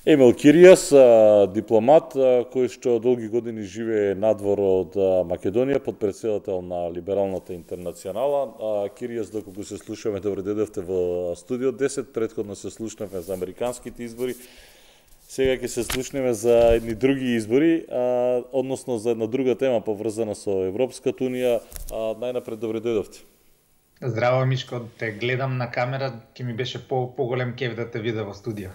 Емил Киријас, дипломат кој што долги години живее надвор од Македонија, подпредседател на Либералната интернационала. Киријас, доколку се слушаме, добре дојдовте во студио 10, претходно се слушнавме за американските избори. Сега ќе се слушнеме за едни други избори, односно за една друга тема поврзана со Европската унија. Најнапред добре дојдовте. Здраво, Мишко, те гледам на камера, ќе ми беше поголем кеф да те видя во студио.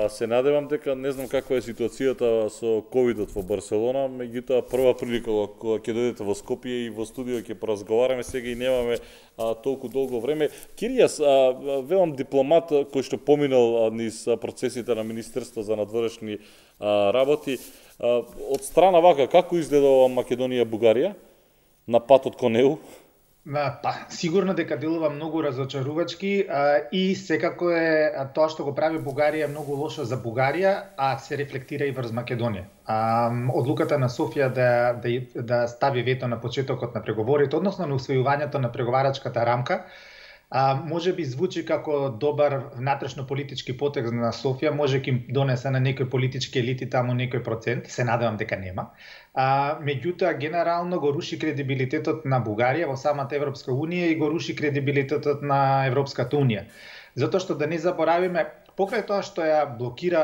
Се надевам дека не знам каква е ситуацијата со ковидот во Барселона, меѓутоа прва прилика кога ќе дојдете во Скопје и во студио ќе поразговараме, сега и немаме толку долго време. Киријас, велам дипломат кој што поминал низ процесите на Министерство за надворешни работи, од страна вака како изгледа Македонија-Бугарија на патот кон ЕУ? Сигурно дека делува многу разочарувачки и секако е тоа што го прави Бугарија многу лошо за Бугарија, а се рефлектира и врз Македонија. Одлуката на Софија да стави вето на почетокот на преговорите, односно на усвојувањето на преговарачката рамка, може би звучи како добар внатрешно-политички потек на Софија, може ќе им донесе на некои политички елити таму некој процент, се надевам дека нема. Меѓутоа, генерално го руши кредибилитетот на Бугарија во самата Европска Унија и го руши кредибилитетот на Европската Унија. Затоа што да не заборавиме, покрај тоа што ја блокира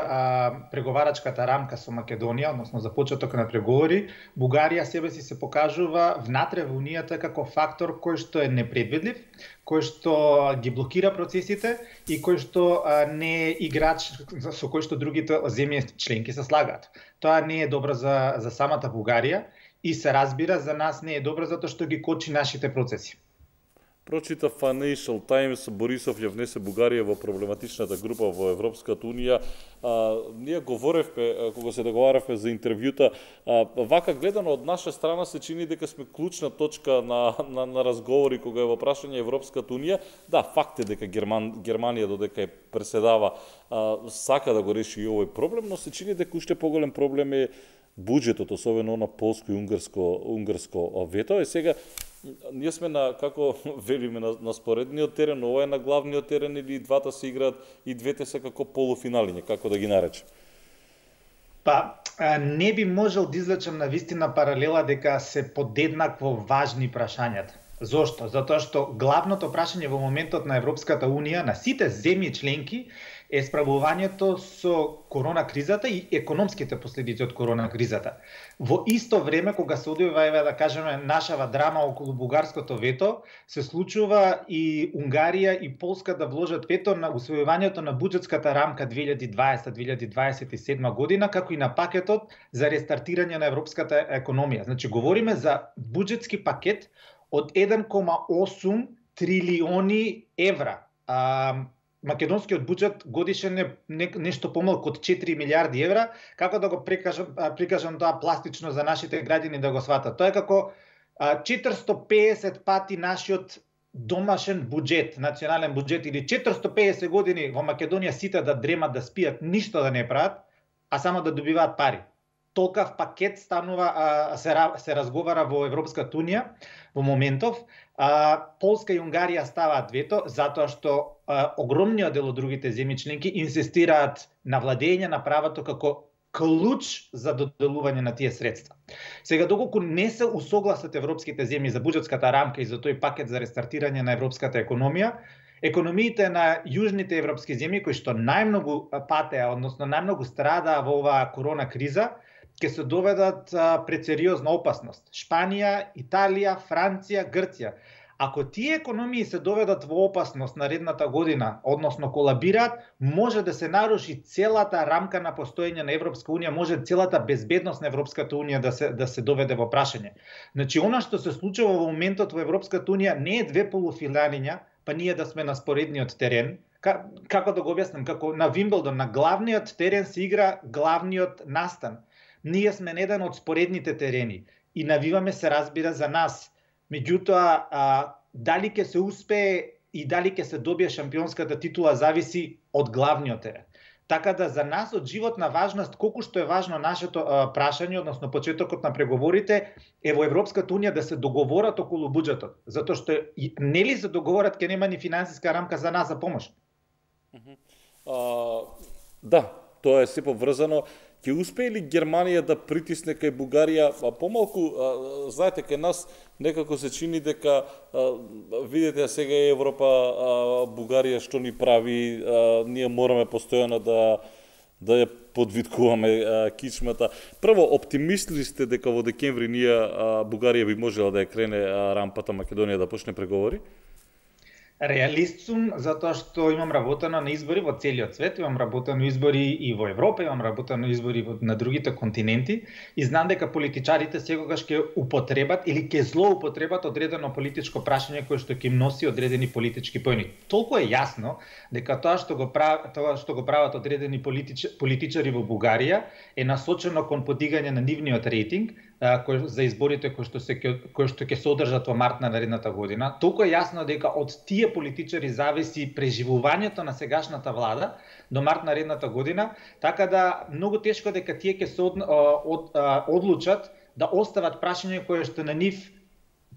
преговарачката рамка со Македонија, односно за почеток на преговори, Бугарија себе си се покажува внатре во Унијата како фактор кој што е непредвидлив, кој што ги блокира процесите и кој што не е играч со кој што другите земји членки се слагаат. Тоа не е добро за самата Бугарија и се разбира за нас не е добро затоа што ги кочи нашите процеси. Прочита Financial Times, Борисов ја внесе Бугарија во проблематичната група во Европската Унија. Ние говоревме, кога се договаравме за интервјута, вака гледано од наша страна се чини дека сме клучна точка на разговори кога е во прашање Европската Унија. Да, факт е дека Германија додека е преседава сака да го реши и овој проблем, но се чини дека уште поголем проблем е буџетот, особено на полско и унгарско вето. Сега ние сме на, како велиме, на споредниот терен, ова е на главниот терен или двата се играат и двете се како полуфиналиња, како да ги наречем? Не би можел да извлечам на вистина паралела дека се подеднакво важни прашањата. Зошто? Затоа што главното прашање во моментот на Европската Унија, на сите земји членки, е справувањето со корона кризата и економските последици од корона кризата. Во исто време, кога се одвива, да кажеме, нашава драма околу бугарското вето, се случува и Унгарија и Полска да вложат вето на усвојувањето на буџетската рамка 2020-2027 година, како и на пакетот за рестартирање на европската економија. Значи, говориме за буџетски пакет од 1,8 трилиони евра. Македонскиот буџет годишен е нешто помалку од 4 милиарди евра, како да го прикажам тоа пластично за нашите граѓани да го сватат. Тоа е како 450 пати нашиот домашен буџет, национален буџет, или 450 години во Македонија сите да дремат, да спијат, ништо да не прават, а само да добиваат пари. Толкав пакет станува, се разговара во Европската Унија во моментов. Полска и Унгарија ставаат вето затоа што огромниот дел од другите земји членки инсистираат на владење на правото како клуч за доделување на тие средства. Сега, доколку не се усогласат европските земји за буџетската рамка и за тој пакет за рестартирање на европската економија, економиите на јужните европски земји кои што најмногу патеа, односно најмногу страдаа во оваа корона криза, ќе се доведат пред сериозна опасност. Шпанија, Италија, Франција, Грција. Ако тие економии се доведат во опасност наредната година, односно колабираат, може да се наруши целата рамка на постоење на Европска Унија, може целата безбедност на Европската Унија да се доведе во прашање. Значи, она што се случува во моментот во Европската Унија не е две полуфиналиња, па ние да сме на споредниот терен. Како да го објаснам, како на Вимблдон, на главниот терен се игра главниот настан. Ние сме на еден од споредните терени и навиваме се разбира за нас. Меѓутоа, дали ќе се успее и дали ќе се добие шампионската титула зависи од главниот терен. Така да за нас од животна важност, колку што е важно нашето прашање, односно почетокот на преговорите, е во Европската Унија да се договорат околу буџетот. Затоа што нели се договорат ќе нема ни финансиска рамка за нас за помош. Да, тоа е се поврзано. Ќе успее ли Германија да притисне кај Бугарија, помалку, знаете, кај нас некако се чини дека, видите, сега е Европа, Бугарија што ни прави, ние мораме постојано да ја подвиткуваме кичмата. Прво, оптимистли сте дека во декември Бугарија би можела да ја крене рампата Македонија да почне преговори? Реалист сум, затоа што имам работено на избори во целиот свет, имам работено избори и во Европа, имам работено избори на другите континенти и знам дека политичарите секогаш ќе употребат или ќе злоупотребат одредено политичко прашање кое што ќе им носи одредени политички поени. Толку е јасно дека тоа што го прават одредени политичари во Бугарија е насочено кон подигање на нивниот рейтинг за изборите кои што ќе се одржат во март на наредната година. Толку е јасно дека од тие политичари зависи преживувањето на сегашната влада до март наредната година, така да многу тешко дека тие ќе се одлучат да остават прашање кое што на нив,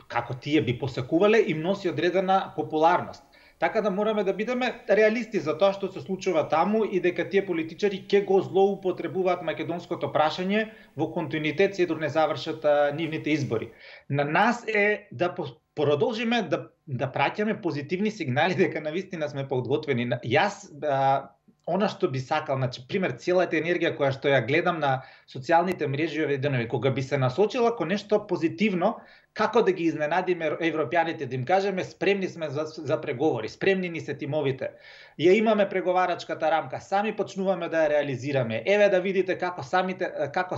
како тие би посакувале, им носи одредена популарност. Така да мораме да бидеме реалисти за тоа што се случува таму и дека тие политичари ќе го злоупотребуваат македонското прашање во континуитет се док не завршат нивните избори. На нас е да продолжиме да праќаме позитивни сигнали дека навистина сме подготвени. Јас она што би сакал, значи пример целата енергија која што ја гледам на социјалните мрежи овие денови, кога би се насочила кон нешто позитивно, како да ги изненадиме европјаните, да им кажеме спремни сме за преговори, спремни ни се тимовите. Ја имаме преговарачката рамка, сами почнуваме да ја реализираме. Еве да видите како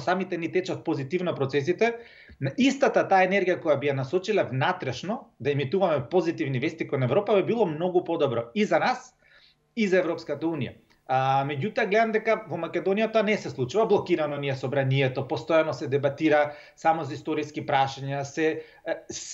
самите ни течат позитивно процесите. На истата таа енергија која би ја насочила внатрешно да емитуваме позитивни вести кон Европа би било многу подобро и за нас и за Европската унија. Меѓутоа гледам дека во Македонија тоа не се случува, блокирано ни е собранието, постојано се дебатира само за историски прашања,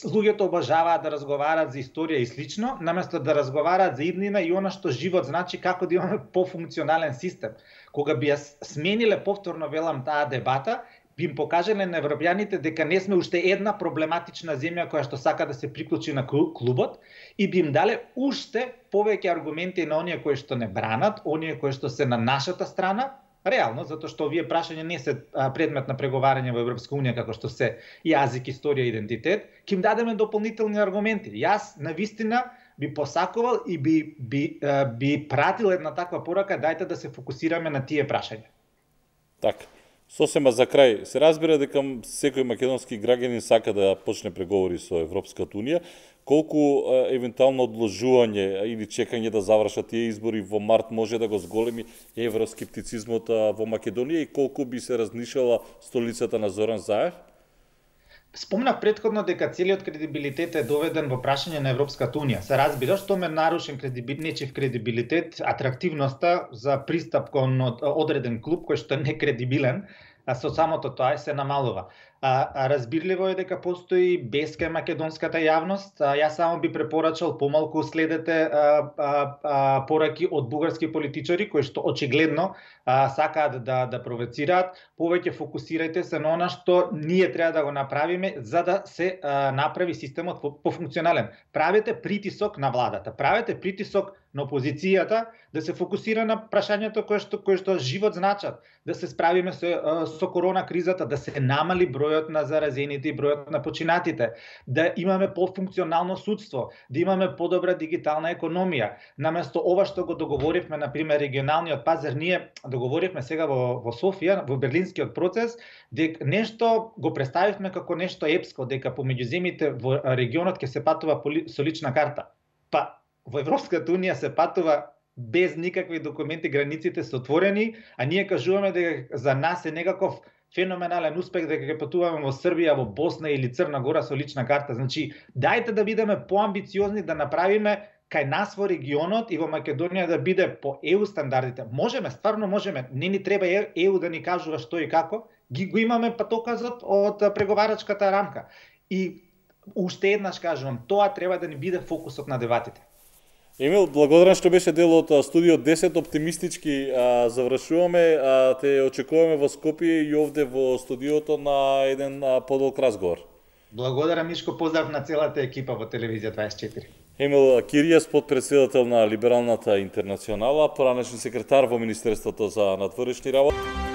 луѓето обожаваат да разговараат за историја и слично, наместо да разговараат за иднина и она што живот значи, како да имаме пофункционален систем. Кога би ја смениле повторно велам таа дебата, би им покажале на европјаните дека не сме уште една проблематична земја која што сака да се приклучи на клубот и би им дале уште повеќе аргументи на оние кои што не бранат, оние кои што се на нашата страна, реално, затоа што овие прашања не се предмет на преговарање во Европска унија како што се јазик, историја и идентитет, ќе им дадеме дополнителни аргументи. Јас навистина би посакувал и би пратил една таква порака, дајте да се фокусираме на тие прашања. Така. Сосема за крај, се разбира дека секој македонски граѓанин сака да почне преговори со Европската унија. Колку евентуално одложување или чекање да завршат тие избори во март може да го зголеми евроскептицизмот во Македонија и колку би се разнишала столицата на Зоран Заев? Спомнав претходно дека целиот кредибилитет е доведен во прашање на Европската унија. Се разбира што ме нарушен нечив кредибилитет, атрактивноста за пристап кон одреден клуб кој што е некредибилен, со самото тоа се намалува. Разбирливо е дека постои без кај македонската јавност. Јас само би препорачал помалку следете пораки од бугарски политичари кои што очигледно сакаат да провоцираат. Повеќе фокусирајте се на она што ние треба да го направиме за да се направи системот пофункционален. Правете притисок на владата, правете притисок на опозицијата да се фокусира на прашањето кои што живот значат, да се справиме со корона кризата, да се намали бројот на заразените и бројот на починатите, да имаме пофункционално судство, да имаме подобра дигитална економија. Наместо ова што го договоривме, например, регионалниот пазар, ние договоривме сега во Софија, во берлинскиот процес, дека нешто го представивме како нешто епско, дека помеѓу земјите во регионот ќе се патува со лична карта. Па во Европската унија се патува без никакви документи, границите се отворени, а ние кажуваме дека за нас е некаков феноменален успех дека ќе патуваме во Србија, во Босна или Црна Гора со лична карта. Значи, дајте да бидеме поамбициозни, да направиме кај нас во регионот и во Македонија да биде по ЕУ стандардите. Можеме, стварно можеме. Не ни треба ЕУ да ни кажува што и како. Го имаме патоказот од преговарачката рамка. И уште еднаш кажувам, тоа треба да ни биде фокусот на дебатите. Емил, благодарам што беше дел од Студио 10, оптимистички завршуваме, те очекуваме во Скопје и овде во студиото на еден подолг разговор. Благодарам, Мишко, поздрав на целата екипа во Телевизија 24. Емил Киријас, подпредседател на Либералната интернационала, поранешен секретар во Министерството за надворешни работи.